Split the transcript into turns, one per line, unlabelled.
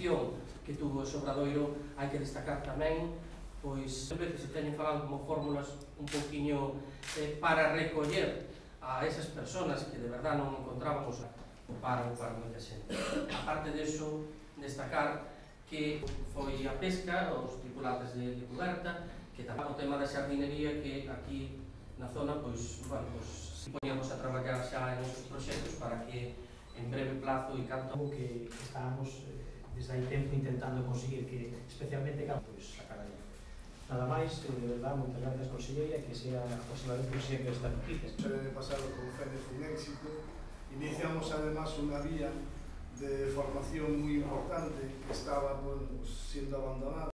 participación que tuvo ese obradoiro, hai que destacar tamén, pois, a veces se teñen falado como fórmulas un poquinho para recoller a esas personas que de verdad non encontrábamos o paro para moita xente. A parte deso, destacar que foi a pesca, os tripulantes de cuberta, que tamén o tema da xardinería, que aquí na zona, pois, bueno, pois, poñemos a traballar xa en esos proxectos para que en breve plazo e canto
que estábamos desde hai tempo intentando conseguir que, especialmente, pois, sacar aí. Nada máis, de verdade, moitas gracias, conselleira, que sea aproximadamente un sempre esta noticia.
El pasado con FEDE fue un éxito. Iniciamos además una vía de formación muy importante que estaba, bueno, siendo abandonada.